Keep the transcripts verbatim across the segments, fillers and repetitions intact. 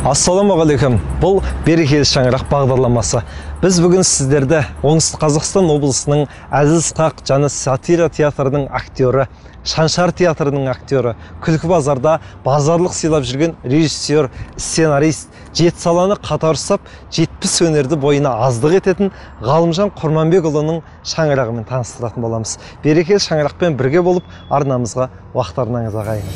Ассаламағалейкум. Бұл берекелі шаңырақ бағдарламасы. Біз бүгін сіздерді Оңтүстік Қазақстан облысының Әзіл-Сықақ және сатира театрының актері, Шаншар театрының актері, Күлкі базарда базарлық сыйлап жүрген режиссер, сценарист, жеті саланы қатар ұстап, жетпіс өнерді бойына аздық ететін Ғалымжан Құрманбекұлының шаңырағымен таныстыратын боламыз. Берекелі шаңырақпен бірге болып, арнамызға уақыттарыңызға ағайын.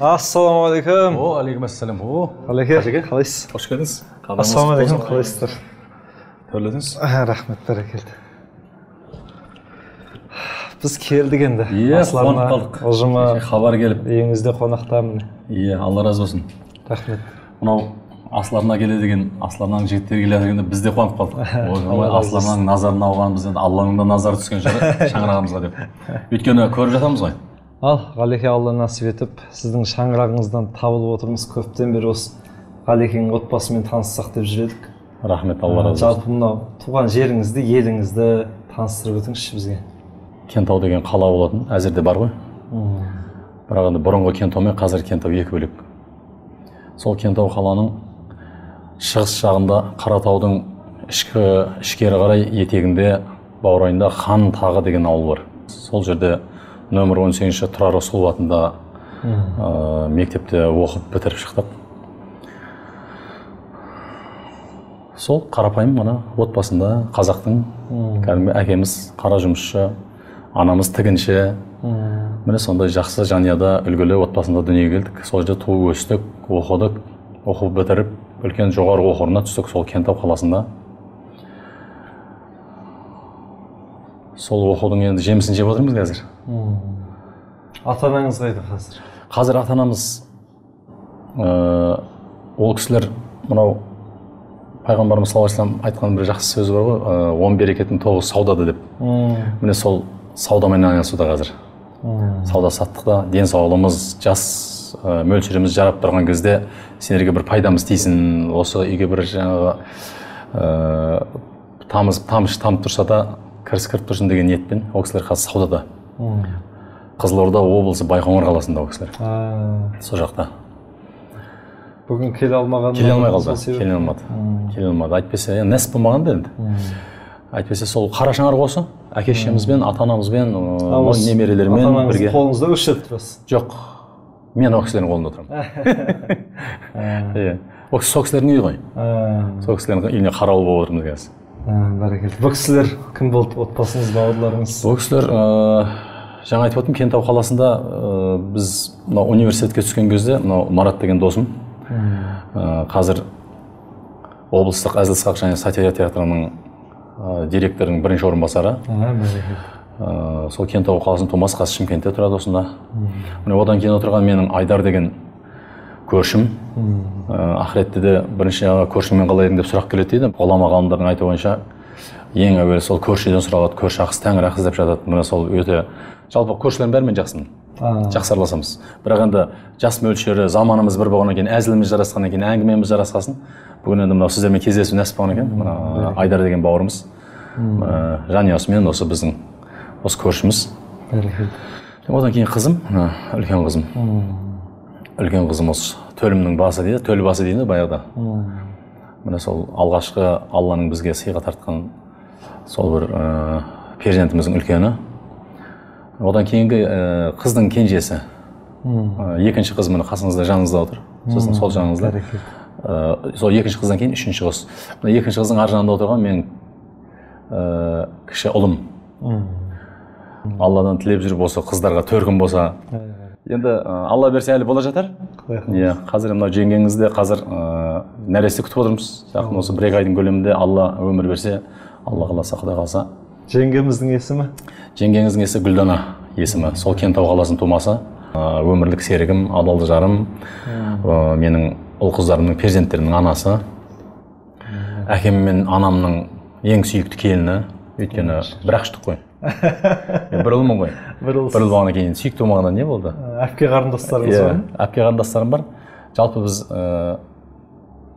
Ассаламағалейкум. О, алейкум ассалам. О, Қалеке, қалайсыз? Қош келдіңіз. Ассаламағалейкум, қалайсыздар? Төрледіңіз. Рахмет, бәрекелді. Біз келдік енді. Иә, қуанып қалдық. Ұжыма хабар келіп. Үйіңізде қонақтамын. Иә, Алла разы болсын. Рахмет. Мынау Асларына келеді деген, Асларының жігіттері келеді дегенде біз де қуанып қалдық. Асларының назарын алған бізден Алланың да назары түскен шығар шаңырағымызға деп. Өйткені көріп жатамыз ғой. Ал, Ғалеке, Алла насip етіп, сіздің шаңырағыңыздан табылып отырмыз. Көптен бері осы Ғалекенің отбасымен таныссақ деп жүредік. Рахмет, Алла разы болсын. Жалпы мынау туған жеріңізді, еліңізді таныстырып өтіңізші бізге. Кентау деген қала болатын, әзірде бар ғой. Бірақ енді бұрынғы Кентау мен қазір Кентау екі бөлек. Сол Кентау қаланың шығыс жағында Қаратаудың ішкі ішкері қарай етегінде баурайында Хан тағы деген ауыл бар. Сол жерде нөмір он сегізінші Тұрар Рысқұлов атында мектепте оқып бітіріп шықтық. Сол қарапайым мына отбасында қазақтың кәдімгі әкеміз қара жұмысшы, анамыз тігінші. Міне сондай жақсы жанұяда үлгілі отбасында дүниеге келдік. Сол жерде туып өстік, оқыдық, оқып бітіріп, үлкен жоғары оқу орнына түстік сол Кентау қаласында. Сол оқудың енді жемісін жеп отырмыз қазір. Ата-анаңыз қайда қазір? Қазір ата-анамыз ол кісілер мынау пайғамбарымыз саллаллаху алейхи вассалам айтқан бір жақсы сөзі бар ғой, он берекеттің тоғызы саудада деп. Міне сол саудамен айналысуда қазір. Сауда саттықта денсаулығымыз, жас мөлшеріміз жарап тұрған кезде сендерге бір пайдамыз тисін, осы үйге бір жаңағы тамыз тамшы тамып тұрса да кіріс кіріп тұрсын деген ниетпен ол кісілер қазір саудада. Қызылорда облысы Байқоңыр қаласында ол кісілер. Сол жақта. Бүгін келе алмаған? Келе алмай қалды. Келе алмады. Келе алмады. Айтпесе, нәсіп болмаған да енді. Айтпесе сол қара шаңырақ осы. Әке-шешемізбен, ата-анамызбен, немерелермен бірге. Ата-анаңыз қолыңызда өшіп тұрасыз? Жоқ. Мен ол кісілердің қолында отырамын. Ол сол кісілердің үйі ғой. Сол кісілердің үйіне қарауыл болып отырмыз қазір. Бәрекелді. Бұл кісілер кім болды? Отбасыңыз, бауырларыңыз? Бұл кісілер жаңа айтып отырмын, Кентау қаласында біз университетке түскен кезде Марат деген досым қазір облыстық Әзіл-Сықақ және сатира театрының директорының бірінші орынбасары. Сол Кентау қаласының тумасы, қазір Шымкентте тұрады осында. Одан кейін отырған менің Айдар деген көршім. Ақыретте де бірінші көршіммен қалай едің деп сұрақ келеді дейді. Ғұлама ғалымдардың айтуы бойынша ең әуелі сол көршіден сұралады, көрші ақысы тәңір ақысы деп жатады. Міне сол өте жалпы көршілердің бәрімен жақсымын. Жақсы араласамыз. Бірақ енді жас мөлшері, заманымыз бір болғаннан кейін, әзіліміз жарасқаннан кейін, әңгімеміз жарасқасын. Бүгін енді мынау сіздермен кездесу нәсіп болғаннан кейін, Айдар деген бауырымыз, жанұясымен осы біздің осы көршіміз. Одан кейін қызым, үлкен қызым. Үлкен қызым осы төлімнің басы дейді, төл басы дейді баяғыда. Міне сол алғашқы Алланың бізге сыйға тартқан сол бір перзентіміздің үлкені. Одан кейінгі қыздың кенжесі. Екінші қыз міне қасыңызда, жаныңызда отыр. Сіздің сол жаныңызда. Сол екінші қыздан кейін үшінші қыз. Екінші қыздың ар жағында отырған мен кіші ұлым. Алладан тілеп жүріп осы қыздарға төркін болса. Енді Алла берсе әлі бола жатар. Қазір мынау жеңгеңізде қазір нәресте күтіп отырмыз. Жақын осы бір екі айдың көлемінде Алла өмір берсе, Алла қаласа, Құдай қаласа. Жеңгеміздің есімі? Жеңгеңіздің есімі Гүлдана есімі. Сол Кентау қаласының тумасы. Өмірлік серігім, адалды жарым, менің ұл қыздарымның перзенттерінің анасы. Әкем мен анамның ең сүйікті келіні, өйткені бір аштық қой. Бір ұлмын ғой. Бір ұл болғаннан кейін сүйікті болмағанда не болды? Әпке қарындастарыңыз бар? Әпке қарындастарым бар. Жалпы біз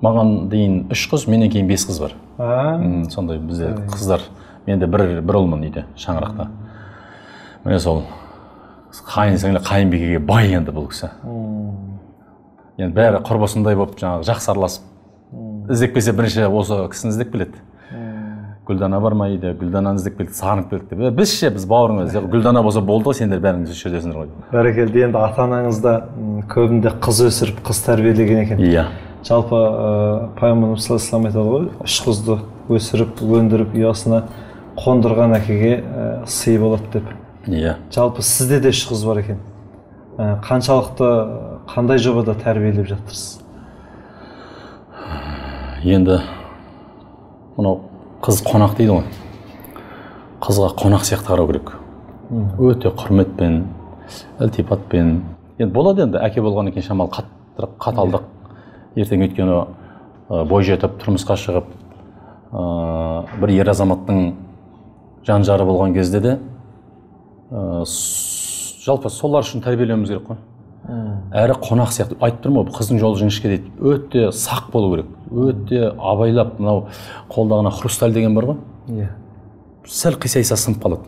маған дейін үш қыз, менен кейін бес қыз бар. Сондай бізде қыздар. Менде бір бір ұлмын үйде, шаңырақта. Міне сол қайын сіңлі қайынбикеге бай енді бұл кісі. Енді бәрі құрбысындай болып жаңағы жақсы араласып, іздеп келсе бірінші осы кісіні іздеп келеді. Гүлдана бар ма үйде, Гүлдананы іздеп келді, сағынып келді. Біз ше, біз бауырыңыз, Гүлдана болса болды ғой, сендер бәріңіз үш жердесіңдер ғой. Бәрекелді, енді ата-анаңыз да көбінде қыз өсіріп, қыз тәрбиелеген екен. Иә. Жалпы пайғамбарымыз саллаллаху алейхи ва саллям айтады ғой, үш қызды өсіріп, өндіріп, ұясына қондырған әкеге сый болады деп. Иә. Жалпы сізде де үш қыз бар екен. Қаншалықты, қандай жобада тәрбиелеп жатырсыз? Енді мынау қыз қонақ дейді ғой. Қызға қонақ сияқты қарау керек. Өте құрметпен, ілтипатпен. Енді болады енді әке болғаннан кейін шамалы қаттырақ, қаталдық. Ертең өйткені бой жетіп, тұрмысқа шығып, бір ер азаматтың жан жары болған кезде де жалпы солар үшін тәрбиелеуіміз керек қой. Әрі қонақ сияқты. Айтып тұрмын ғой, қыздың жолы жіңішке дейді. Өте сақ болу керек. Өте абайлап, мынау қолдағына хрусталь деген бар ғой. Иә. Сәл қисайса сынып қалады.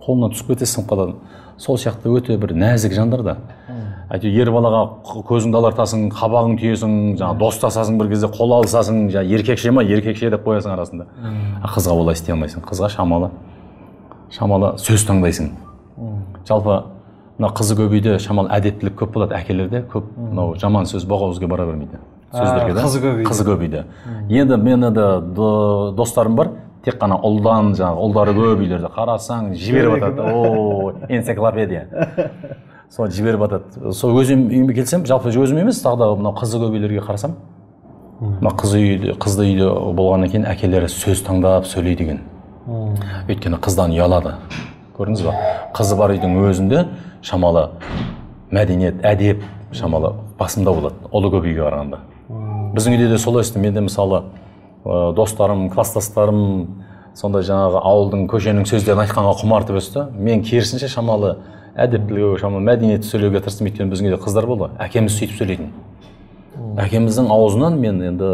Қолынан түсіп кетсе сынып қалады. Сол сияқты өте бір нәзік жандар да. Әйтеуір ер балаға көзіңді алартасың, қабағың түйесің, жаңа достасасың бір кезде, қол алысасың, жаңа еркекше ма, еркекше деп қоясың арасында. Қызға олай істей алмайсың. Қызға шамалы, шамалы сөз таңдайсың. Жалпы мына қызы көп үйде шамалы әдептілік көп болады әкелерде, көп мынау жаман сөз боғауызға бара бермейді. Сөздерге де. Қызы көп үйде. Енді менің де достарым бар, тек қана ұлдан, жаңағы ұлдары көп үйлерде қарасаң, жіберіп атады. О, энциклопедия. Сол жіберіп атады. Сол өзім үйіме келсем, жалпы өзім емес, тағы да мынау қызы көп үйлерге қарасам, мына қызы үйде, қызды үйде болғаннан кейін әкелері сөз таңдап сөйлейді екен. Өйткені қыздан ұялады. Көрдіңіз ба? Қызы бар үйдің өзінде шамалы мәдениет, әдеп шамалы басымда болады, ұлы көп үйге қарағанда. Біздің үйде де солай істі. Менде мысалы достарым, кластастарым сондай жаңағы ауылдың, көшенің сөздерін айтқанға құмартып өсті. Мен керісінше шамалы әдептілігі, шамалы мәдениетті сөйлеуге тырыстым. Өйткені біздің үйде қыздар болды. Әкеміз сөйтіп сөйлейтін. Әкеміздің аузынан мен енді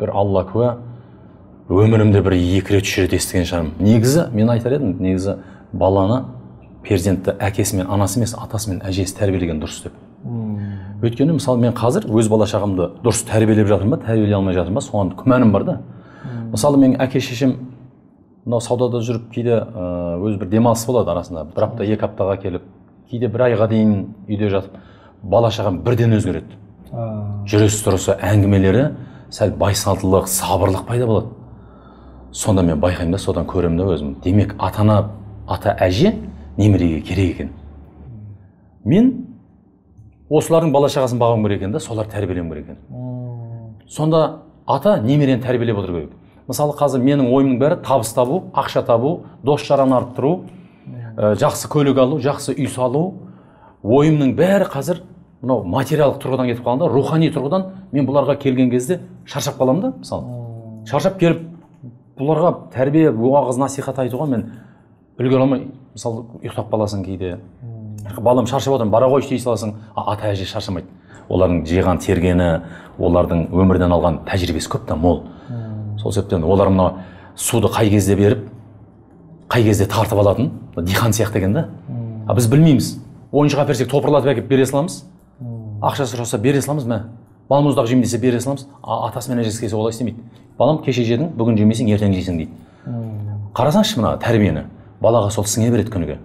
бір Алла куә, өмірімде бір екі рет, үш рет естіген шығармын. Негізі, мен айтар едім, негізі баланы, перзентті әкесі мен анасы емес, атасы мен әжесі тәрбиелеген дұрыс деп. Өйткені мысалы мен қазір өз бала шағамды дұрыс тәрбиелеп жатырмын ба, тәрбиелей алмай жатырмын ба, соған күмәнім бар да. Мысалы мен әке шешем мынау саудада жүріп, кейде өз бір демалыс болады арасында, бір апта, екі аптаға келіп, кейде бір айға дейін үйде жатып, бала шағам бірден өзгереді. Жүріс тұрысы, әңгімелері сәл байсалдылық, сабырлық пайда болады. Сонда мен байқаймын да, содан көремін да өзім. Демек, ата-ана, ата әже немереге керек екен. Мен осылардың бала шағасын бағым керек екен да, солар тәрбиелеуім керек екен. Сонда ата немерені тәрбиелеп отыр керек. Мысалы қазір менің ойымның бәрі табыс табу, ақша табу, дос жараны арттыру, жақсы көлік алу, жақсы үй салу. Ойымның бәрі қазір мынау материалдық тұрғыдан кетіп қалғанда, рухани тұрғыдан мен бұларға келген кезде шаршап қаламын да, мысалы. Шаршап келіп бұларға тәрбие, уағыз, насихат айтуға мен үлгере алмай, мысалы, ұйықтап қаласың кейде. Балам шаршап отырмын, бара ғой дей саласың, ата әже шаршамайды. Олардың жиған тергені, олардың өмірден алған тәжірибесі көп та мол. Сол себептен олар мына суды қай кезде беріп, қай кезде тартып алатын, диқан сияқты екен да. А біз білмейміз. Ойыншық әперсек топырлатып әкеп бере саламыз. Ақша сұраса бере саламыз, мә. Балмұздақ жеймін десе бере саламыз. Атасы мен әжесі келсе олай істемейді. Балам кеше жедің, бүгін жемейсің, ертең жейсің дейді. Қарасаңшы мына тәрбиені, балаға сол сіңе береді күніге.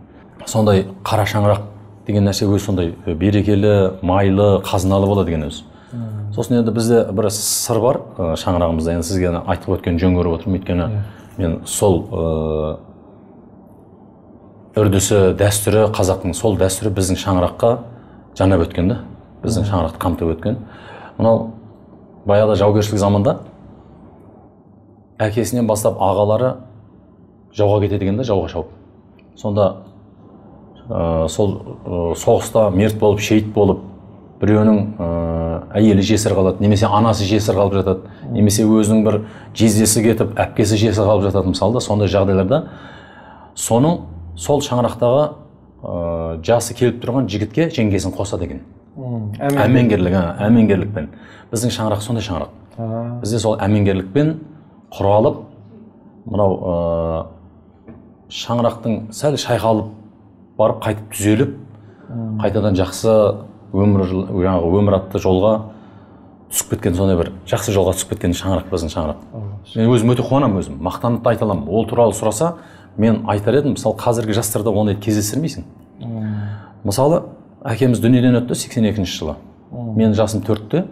Сондай қара шаңырақ деген нәрсе өз сондай берекелі, майлы, қазыналы болады деген өз. Сосын енді бізде бір сыр бар шаңырағымызда, енді сізге айтып өткен жөн көріп отырмын. Өйткені мен сол үрдісі, дәстүрі, қазақтың сол дәстүрі біздің шаңыраққа жанап өткен да, біздің шаңырақты қамтып өткен. Мынау баяғыда жаугершілік заманда әкесінен бастап ағалары жауға кетеді екен да, жауға шауып. Сонда ә, сол ә, соғыста мерт болып, шейіт болып, біреуінің әйелі жесір қалады, немесе анасы жесір қалып жатады, немесе өзінің бір жездесі кетіп әпкесі жесір қалып жатады. Мысалы да сондай жағдайларда соның сол шаңырақтағы ә, жасы келіп тұрған жігітке жеңгесін қосады екен. Әмеңгерлік, әмеңгерлікпен. Біздің шаңырақ сондай шаңырақ. Бізде сол әмеңгерлікпен құралып, мынау ә, шаңырақтың сәл шайқалып барып қайтып түзеліп, қайтадан жақсы өмір, жаңағы өмір атты жолға түсіп кеткен, сондай бір жақсы жолға түсіп кеткен шаңырақ біздің шаңырақ. Мен өзім өте қуанамын, өзім мақтанып та айта аламын. Ол туралы сұраса, мен айтар едім, мысалы қазіргі жастарда ондай кездестірмейсің. Мысалы, әкеміз дүниеден өтті сексен екінші жылы. Мен жасым төртте,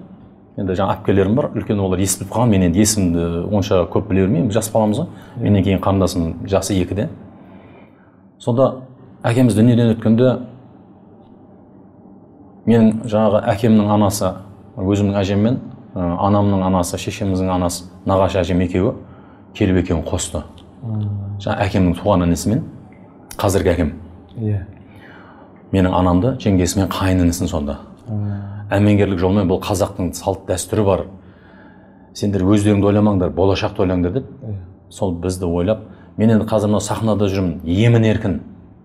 енді жаңа әпкелерім бар, үлкен олар ес біліп қалған, мен енді есімді онша көп біле бермеймін, жас баламыз ғой. Менен кейін қарындасым жасы екіде. Сонда әкеміз дүниеден өткенде мен жаңағы әкемнің анасы, өзімнің әжеммен, анамның анасы, шешеміздің анасы, нағашы әжем екеуі келіп екеуін қосты. Жаңа әкемнің туған інісімен, қазіргі әкем. Менің анамды жеңгесімен қайын інісін сонда. Әмеңгерлік жолмен, бұл қазақтың салт дәстүрі бар. Сендер өздеріңді ойламаңдар, болашақты ойлаңдар деп. Сол бізді ойлап, мен енді қазір мына сахнада жүрмін, емін еркін,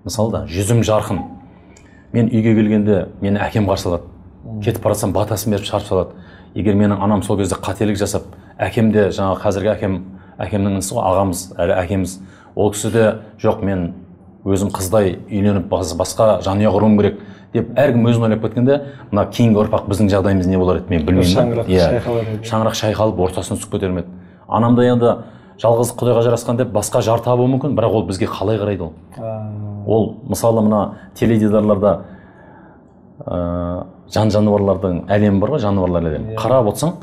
мысалы да, жүзім жарқын. Мен үйге келгенде мені әкем қарсы алады. Кетіп баратсам батасын беріп шығарып салады. Егер менің анам сол кезде қателік жасап, әкем де жаңағы қазіргі әкем, әкемнің інісі ғой, ағамыз, әлі әкеміз, ол кісі де жоқ, мен өзім қыздай үйленіп басқа жанұя құруым керек деп әркім өзін ойлап кеткенде, мына кейінгі ұрпақ біздің жағдайымыз не болар еді, мен білмеймін. Шаңырақ шайқалып ортасына түсіп кетер ме еді. Анам да енді жалғыздық Құдайға жарасқан деп басқа жар табуы мүмкін, бірақ ол бізге қалай қарайды ол? Ол мысалы мына теледидарларда жан жануарлардың әлемі бар ғой, жануарлар әлемі. Қарап отырсаң,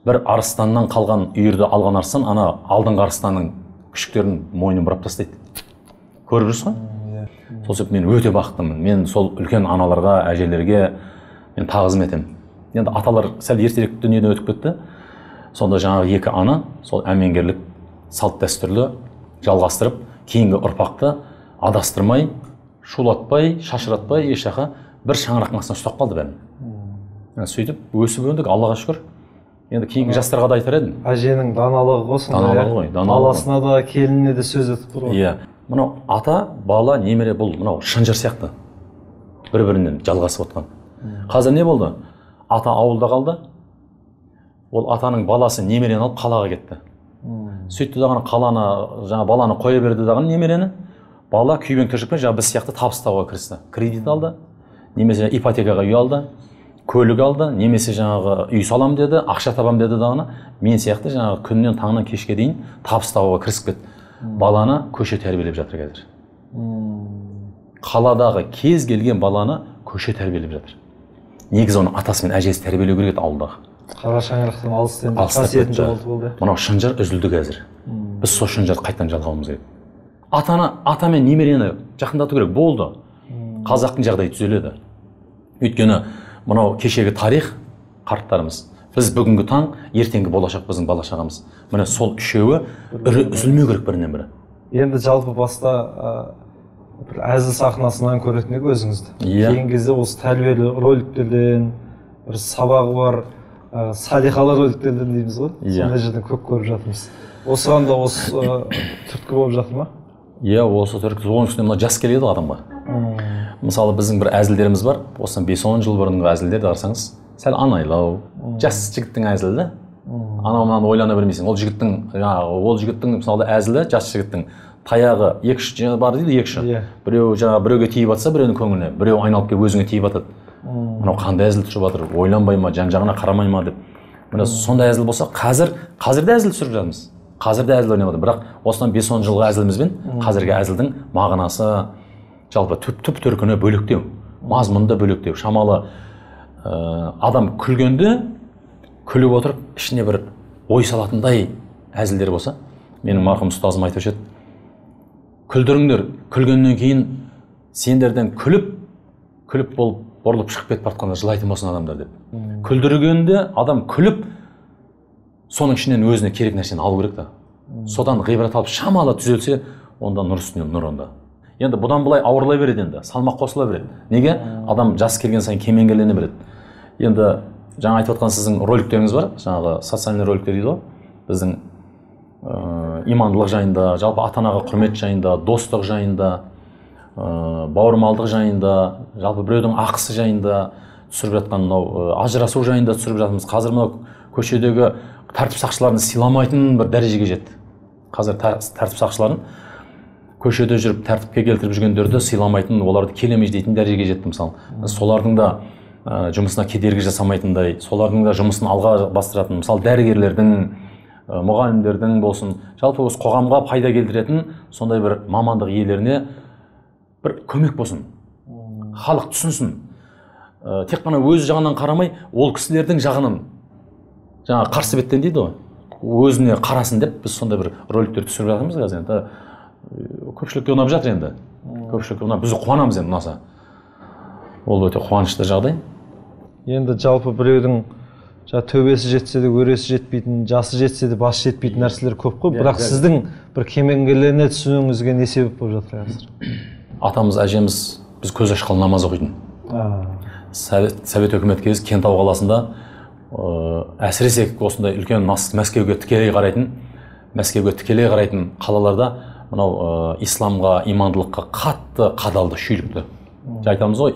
бір арыстаннан қалған үйірді алған арыстан, ана алдыңғы арыстанның күшіктерін мойнын бұрап тастайды. Көріп жүрсіз ғой? Сол себепті мен өте бақыттымын. Мен сол үлкен аналарға, әжелерге мен тағзым етемін. Енді аталар сәл ертерек дүниеден өтіп кетті. Сонда жаңағы екі ана сол әмеңгерлік салт дәстүрлі жалғастырып, кейінгі ұрпақты адастырмай, шулатпай, шашыратпай, ешқаққа бір шаңырақтың астына ұстап қалды бәрін. Сөйтіп өсіп өндік, Аллаға шүкір. Енді кейінгі жастарға да айтар едім. Әженің даналығы ғой сонда. Даналығы ғой, даналығы. Баласына да, келініне де сөз етіп тұр ғой. Иә. Мынау ата, бала, немере бұл мынау шынжыр сияқты. Бір-бірінен жалғасып отқан. Қазір не болды? Ата ауылда қалды. Ол атаның баласы немерені алып қалаға кетті. Сөйтті дағаны қаланы, жаңа баланы қоя берді дағаны немерені. Бала күйбең тіршілікпен жаңа біз сияқты табыстауға кірісті. Кредит алды, немесе ипотекаға үй алды, көлік алды, немесе жаңағы үй салам деді, ақша табам деді дағаны. Мен сияқты жаңағы күннен таңнан кешке дейін табыстауға кірісіп кетті. Баланы көше тәрбиелеп жатыр қазір. Қаладағы кез келген баланы көше тәрбиелеп жатыр. Негізі оны атасы мен әжесі тәрбиелеу керек еді ауылдағы. Қара шаңырақтан алыстан қасиетін жоғалтып болды. Мынау шынжыр үзілді қазір. Біз сол шынжырды қайтадан жалғауымыз керек. Атаны, ата мен немерені жақындату керек, болды. Қазақтың жағдайы түзеледі. Өйткені мынау кешегі тарих, қарттарымыз, біз бүгінгі таң, ертеңгі болашақ біздің бала шағамыз. Міне сол үшеуі үрі үзілмеу керек бірінен бірі. Енді жалпы баста бір әзіл сахнасынан көретін еді өзіңізді. Кейін кезде осы тәрбиелі роликтерден, бір сабағы бар, салиқалы роликтерден дейміз ғой. Сондай жерден көп көріп жатырмыз. Осыған да осы түрткі болып жатыр ма? Иә, осы түрткі. Оның үстіне мына жас келеді адамға. Мысалы біздің бір әзілдеріміз бар. Осыдан бес он жыл бұрынғы әзілдерді қарасаңыз, сәл анайлау, жас жігіттің әзілі. Анау мынаны ойлана бермейсің. Ол жігіттің, жаңағы, ол жігіттің мысалы әзілі, жас жігіттің таяғы екі үш бар дейді, екі үш. Біреу жаңа біреуге тиіп атса, біреудің көңіліне, біреу айналып келіп өзіңе тиіп атады. Мынау қандай әзіл түсіріп жатыр, ойланбай ма, жан-жағына қарамай ма деп. Міне сондай әзіл болса, қазір қазір де әзіл түсіріп жатырмыз. Қазір де әзіл ойнап жатыр. Бірақ осыдан бес он жылғы әзілімізбен қазіргі әзілдің мағынасы жалпы түп төркіні бөлектеу, мазмұнды бөлектеу. Шамалы адам күлгенде күліп отырып, ішіне бір ой салатындай әзілдер болса, менің марқұм ұстазым айтушы еді, күлдіріңдер, күлгеннен кейін сендерден күліп, күліп болып, бұрылып шығып кетіп бара жылайтын болсын адамдар деп. Күлдіргенде адам күліп, соның ішінен өзіне керек нәрсені алу керек та. Содан ғибрат алып шамалы түзелсе, онда нұр үстіне нұр онда. Енді бұдан былай ауырлай береді енді, салмақ қосыла береді. Неге? Адам жас келген сайын кемеңгерлене береді. енді жаңа айтып отқан сіздің роликтеріңіз бар, жаңағы социальный роликтер дейді ғой, біздің ә, имандылық жайында, жалпы ата-анаға құрмет жайында, достық жайында, ә, бауырмалдық жайында, жалпы біреудің ақысы жайында түсіріп жатқан, мынау ажырасу жайында түсіріп жатырмыз. Қазір мынау көшедегі тәртіп сақшыларын сыйламайтын бір дәрежеге жетті. Қазір тәртіп сақшыларын көшеде жүріп тәртіпке келтіріп жүргендерді сыйламайтын, оларды келемей дейтін дәрежеге жетті. Мысалы, солардың да ә, жұмысына кедергі жасамайтындай, солардың да жұмысын алға бастыратын, мысалы дәрігерлердің, ә, мұғалімдердің болсын, жалпы осы қоғамға пайда келтіретін сондай бір мамандық иелеріне бір көмек болсын, халық түсінсін. Ә, тек қана өз жағынан қарамай, ол кісілердің жағынан, жаңа қарсы беттен дейді ғой, өзіне қарасын деп біз сондай бір роликтер түсіріп жатырмыз қазір. Енді көпшілікке ұнап жатыр, енді көпшілікке ұнап, біз қуанамыз енді ұнаса. Ол өте қуанышты жағдай. Енді жалпы біреудің төбесі жетсе де өресі жетпейтін, жасы жетсе де басы жетпейтін нәрселер көп қой, бірақ сіздің бір кемеңгерлене түсуіңізге не себеп болып жатыр қазір? Атамыз, әжеміз біз көз ашқалы намаз оқитын. Совет, совет өкімет кезі Кентау қаласында әсіресе осындай үлкен Мәскеуге тікелей қарайтын, Мәскеуге тікелей қарайтын қалаларда мынау исламға, имандылыққа қатты қадалды, шүйлікті. Айтамыз ғой,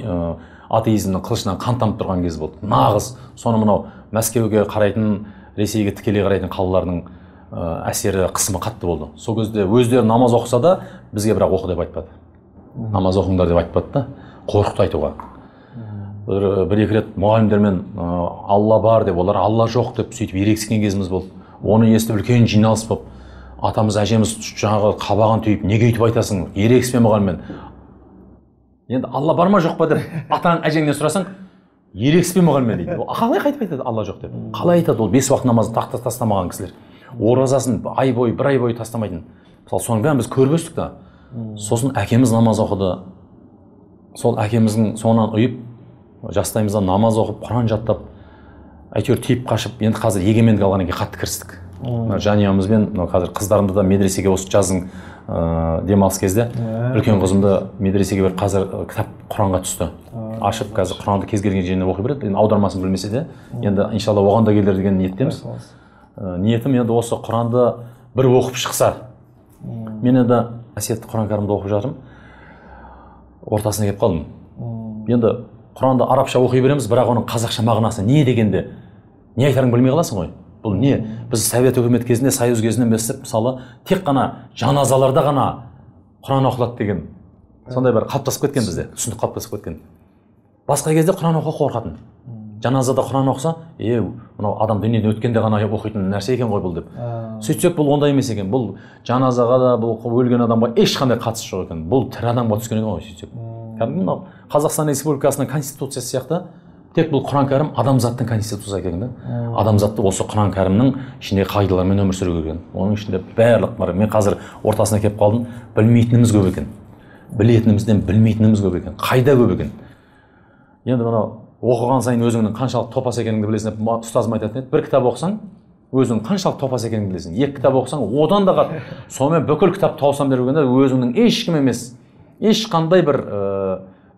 атеизмнің қылышынан қан тамып тұрған кез болды. Нағыз соны мынау Мәскеуге қарайтын, Ресейге тікелей қарайтын қалалардың әсері, қысымы қатты болды. Сол кезде өздері намаз оқыса да, бізге бірақ оқы деп айтпады. Намаз оқыңдар деп айтпады да, қорқыт айтуға. Бір екі рет мұғалімдермен Алла бар деп, олар Алла жоқ деп сөйтіп ерегіскен кезіміз болды. Оны естіп үлкен жиналыс болып, атамыз, әжеміз жаңағы қабаған түйіп, неге өйтіп айтасың, ерегіспе мұғаліммен. Енді Алла бар ма жоқ па деп атаң әжеңнен сұрасаң, ерегіспе мұғаліммен дейді. Қалай қайтып айтады Алла жоқ деп? Қалай айтады, ол бес уақыт намазды тақта тастамаған кісілер. Оразасын ай бойы, бір ай бойы тастамайтын. Мысалы, соның бәрін біз көріп өстік та. Сосын әкеміз намаз оқыды. Сол әкеміздің соңынан ұйып, жастайымызда намаз оқып, Құран жаттап, әйтеуір тиіп қашып, енді қазір егемендік алғаннан кейін қатты кірістік. Жанұямызбен қазір қыздарымды да медресеге осы жаздың демалыс кезде үлкен қызымды медресеге бір қазір кітап Құранға түсті. Ашып қазір Құранды кез келген жеріне оқи береді. Енді аудармасын білмесе де, енді иншалла оған да келер деген ниеттеміз. Ниетім енді осы Құранды бір оқып шықса. Мен енді әсетті Құран кәрімді оқып жатырмын. Ортасына келіп қалдым. Енді Құранды арабша оқи береміз, бірақ оның қазақша мағынасы не дегенде, не айтарың білмей қаласың ғой. Бұл не? Біз Совет өкімет кезінде, Союз кезінен bestеп, мысалы, тек қана жаназаларда ғана Құран оқылады деген сондай бір қалыптасып кеткен бізде, түсінік қалыптасып кеткен. Басқа кезде Құран оқуға қорқатын. Жаназада Құран оқыса, е, мынау адам дүниеден өткенде ғана оқитын нәрсе екен ғой бұл деп. Сөйтсек, бұл ондай емес екен. Бұл жаназаға да, бұл өлген адамға ешқандай қатысы жоқ екен. Бұл тірі адамға түскен екен ғой сөйтсек. Кәдімгі мынау Қазақстан Республикасының конституциясы сияқты, тек бұл Құран кәрім адамзаттың конституциясы екен да. Адамзатты осы Құран кәрімнің ішінде қағидалармен өмір сүру керек. Оның ішінде барлық бар. Мен қазір ортасына келіп қалдым, білмейтініміз көп екен. Білетінімізден білмейтініміз көп екен. Қайда көп екен. Енді мынау оқыған сайын өзіңнің қаншалық топас екеніңді білесің деп ұстазым айтатын еді. Бір кітап оқысаң, өзің қаншалық топас екеніңді білесің. Екі кітап оқысаң, одан да қат. Сонымен бүкіл кітап таусам деп жүргенде өзіңнің ешкім емес, ешқандай бір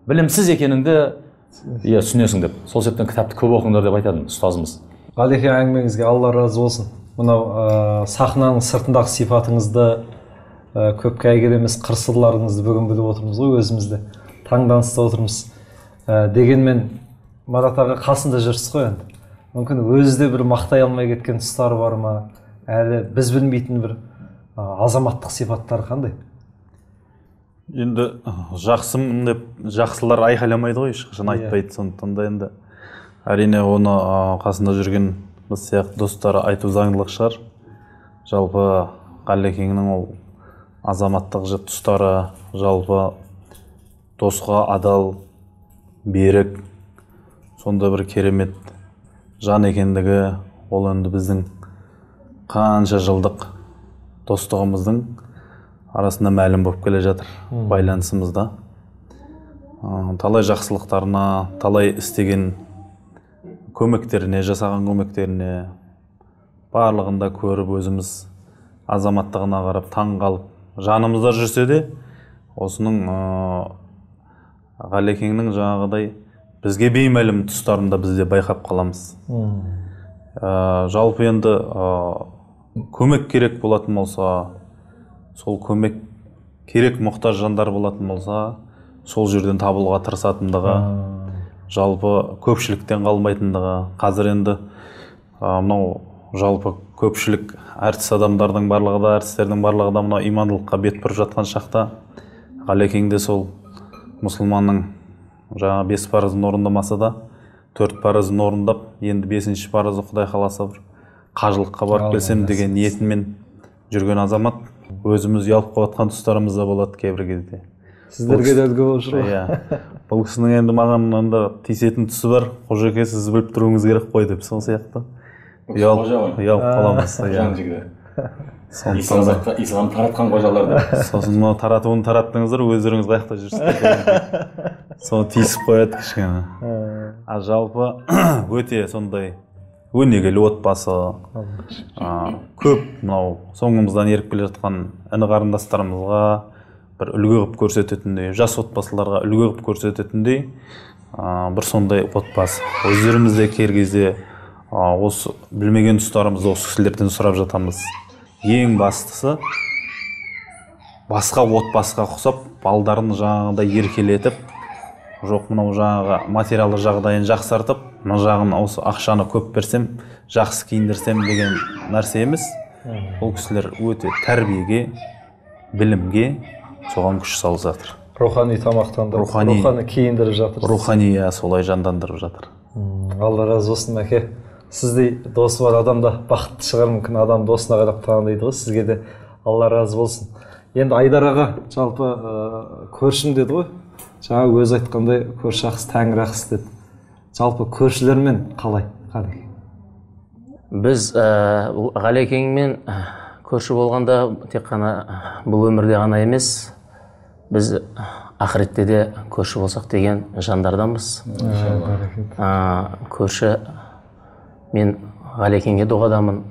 білімсіз екеніңді түсінесің деп. Сол себептен кітапты көп оқыңдар деп айтатын ұстазымыз. Ғалеке, әңгімеңізге Алла разы болсын. Мынау сахнаның сыртындағы сипатыңызды, көпке әйгілі емес қыр-сырларыңызды бүгін біліп отырмыз ғой, өзімізді таңданыста отырмыз. Дегенмен Марат аға қасында жүрсіз ғой енді. Мүмкін өзі де бір мақтай алмай кеткен тұстары бар ма? Әлі біз білмейтін бір азаматтық сипаттары қандай? Енді жақсымын деп жақсылар айқайламайды ғой, ешқашан айтпайды. Сондықтан да енді әрине оны қасында жүрген біз сияқты достары айту заңдылық шығар. Жалпы Ғалекеңнің ол азаматтық тұстары, жалпы досқа адал, берік, сонда бір керемет жан екендігі, ол енді біздің қанша жылдық достығымыздың арасында мәлім болып келе жатыр, байланысымызда. Талай жақсылықтарына, талай істеген көмектеріне, жасаған көмектеріне барлығында көріп өзіміз азаматтығына қарап таң қалып, жанымызда жүрсе де, осының Ғалекеңнің жаңағыдай бізге беймәлім тұстарын да бізде байқап қаламыз. Ә, жалпы енді ә, көмек керек болатын болса, сол көмек керек мұқтаж жандар болатын болса, сол жерден табылуға тырысатындығы, жалпы көпшіліктен қалмайтындығы. Қазір енді мынау жалпы көпшілік әртіс адамдардың барлығы да, әртістердің барлығы да мынау имандылыққа бет бұрып жатқан шақта, Ғалекеңде сол мұсылманның жаңа бес парызын орындамаса да, төрт парызын орындап, енді бесінші парызы Құдай қаласа бір қажылыққа барып келсем деген ниетімен жүрген азамат, өзіміз ұялып қалатын тұстарымыз да болады кейбір кезде. Сіздерге де үлгі болып жүр ғой. Иә. Бұл кісінің енді маған анда тиісетін тұсы бар. Қожеке, сіз біліп тұруыңыз керек қой деп, сол сияқты. Ұялып қаламыз. Жан жігері. Ислам таратқан қожаларды. Сосын мынау таратуын тараттыңыздар, өздеріңіз қаяқта жүрсіздер. Соны тиісіп қояды кішкене. А жалпы өте сондай өнегелі отбасы, көп мынау соңымыздан еріп келе жатқан іні қарындастарымызға бір үлгі қылып көрсететіндей, жас отбасыларға үлгі қылып көрсететіндей бір сондай отбасы. Өздерімізде кер кезде осы білмеген тұстарымызды осы кісілерден сұрап жатамыз. Ең бастысы басқа отбасыға ұқсап, балдарын жаңағыдай еркелетіп, жоқ мынау жаңағы материалды жағдайын жақсартып, мына жағын осы ақшаны көп берсем, жақсы киіндірсем деген нәрсе емес. Ол кісілер өте тәрбиеге, білімге соған күш салып жатыр. Рухани тамақтандырып, рухани киіндіріп жатыр. Рухани солай жандандырып жатыр. Алла разы болсын, әке. Сіздей досы бар адамда бақытты шығар, мүмкін адам досына қарап таныдайды ғой. Сізге де Алла разы болсын. Енді Айдар аға, жалпы көршім деді ғой. Жаңа өзі айтқандай көрші ақысы тәңір ақысы деді. Жалпы көршілермен қалай Ғалекең? Біз Ғалекеңмен көрші болғанда тек қана бұл өмірде ғана емес, біз ақыретте де көрші болсақ деген жандарданбыз. Көрші, мен Ғалекеңге дұғадамын.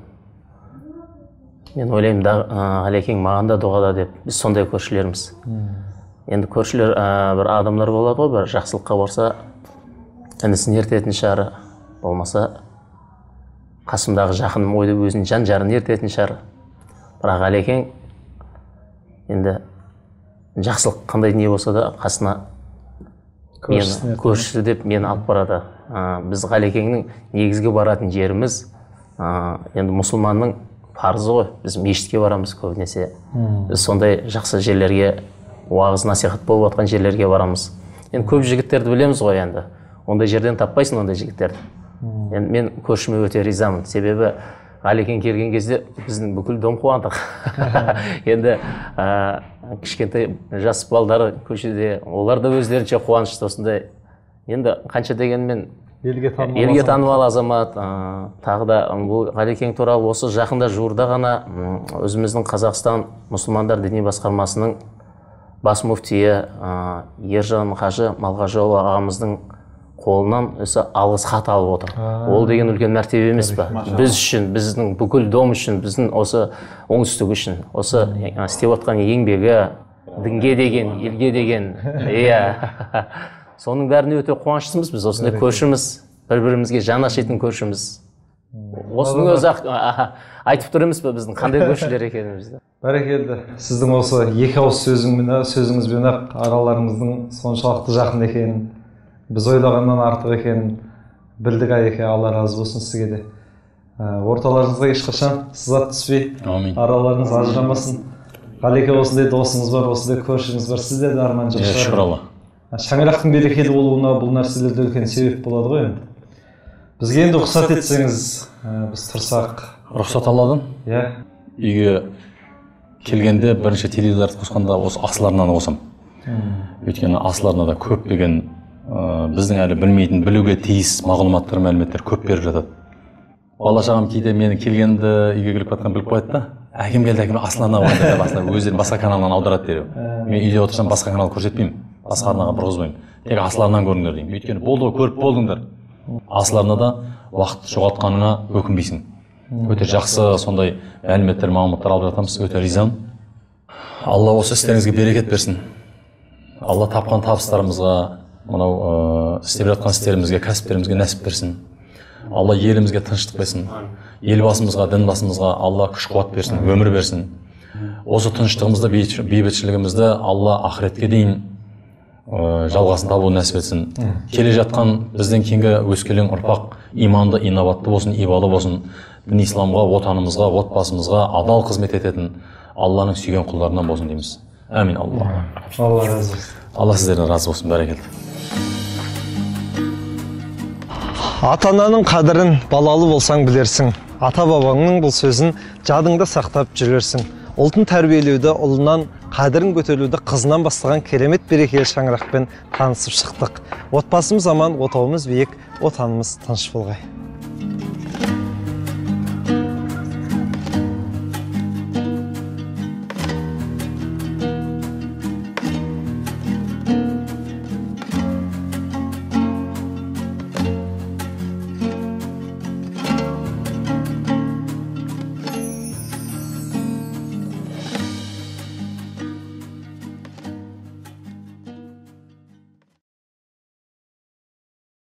Мен ойлаймын, Ғалекең маған да дұғада деп. Біз сондай көршілеріміз. Енді көршілер бір адамдар болады ғой, бір жақсылыққа барса, інісін ертетін шығар, болмаса қасымдағы жақыным ойды өзінің жан жарын ертетін шығар. Бірақ Ғалекең енді жақсылық қандай не болса да қасына көршісі деп мені алып барады. Біз Ғалекеңнің негізгі баратын жеріміз енді мұсылманның парызы ғой. Біз мешітке барамыз көбінесе. Біз сондай жақсы жерлерге, уағыз насихат болып жатқан жерлерге барамыз. Енді көп жігіттерді білеміз ғой енді. Ондай жерден таппайсың ондай жігіттерді. Енді мен көршіме өте ризамын. Себебі Ғалекең келген кезде біздің бүкіл дом қуандық. Енді кішкентай жас балдары көшеде, олар да өздерінше қуанышты осындай. Енді қанша дегенмен елге танымал азамат, тағы да бұл Ғалекең туралы осы жақында жуырда ғана өзіміздің Қазақстан мұсылмандар діни басқармасының бас муфтиі Ержан Қажы Малғажыұлы ағамыздың қолынан осы алғыс хат алып отыр. Ол деген үлкен мәртебе емес пе? Біз үшін, біздің бүкіл дом үшін, біздің осы оңтүстік үшін, осы істеп отқан еңбегі, дінге деген, елге деген, иә. Соның бәріне өте қуаныштымыз біз, осындай көршіміз, бір-бірімізге жан ашитын көршіміз. Осының өзі айтып тұр емес пе біздің қандай көршілер екенімізді. Бәрекелді. Сіздің осы екі ауыз сөзіңізбен ақ араларыңыздың соншалықты жақын екенін, біз ойлағаннан артық екенін білдік әке, Алла разы болсын сізге де. Орталарыңызға ешқашан сызат түспей, араларыңыз ажырамасын. Ғалеке осындай досыңыз бар, осындай көршіңіз бар, сізде де арман жоқ шығар. Шүкір Алла. Шаңырақтың берекелі болуына бұл нәрселерде үлкен себеп болады ғой енді. Бізге енді рұқсат етсеңіз, біз тұрсақ. Рұқсат Алладан? Иә. Үйге келгенде бірінші теледидарды қосқанда осы асыл арнаны қосам. Өйткені асыл арнада көптеген біздің әлі білмейтін, білуге тиіс мағлұматтар, мәліметтер көп беріп жатады. Бала шағам кейде мені келгенді үйге келіп жатқан біліп қояды да, әкем келді, әкем асыл арна қойды деп басына өздері басқа каналынан аударады дереу. Мен үйде отырсам басқа канал көрсетпеймін, басқа арнаға бұрғызбаймын. Тек асыл арнаны көріңдер деймін. Өйткені болды ғой, көріп болдыңдар. Асыл арнада уақыт жоғалтқаныңа өкінбейсің. Өте жақсы сондай мәліметтер, мағлұматтар алып жатамыз. Өте ризамын. Алла осы істеріңізге берекет берсін. Алла тапқан табыстарымызға, мынау істеп жатқан істерімізге, кәсіптерімізге нәсіп берсін. Алла елімізге тыныштық берсін. Елбасымызға, дінбасымызға Алла күш қуат берсін, өмір берсін. Осы тыныштығымызды, бейбітшілігімізді Алла ақыретке дейін жалғасын табуын нәсіп етсін. Келе жатқан бізден кейінгі өскелең ұрпақ иманды, инабатты болсын, ибалы болсын. Дін исламға, отанымызға, отбасымызға адал қызмет ететін Алланың сүйген құлдарынан болсын дейміз. Әмин. Алла. Алла разы болсын. Алла сіздерден разы болсын. Бәрекелді. Ата-ананың қадірін балалы болсаң білерсің. Ата-бабаңның бұл сөзін жадыңда сақтап жүрерсің. Ұлтын тәрбиелеуді, ұлынан қадірін көтеруді қызынан бастаған керемет берекелі шаңырақпен танысып шықтық. Отбасымыз аман, отауымыз биік, отанымыз тыныш болғай.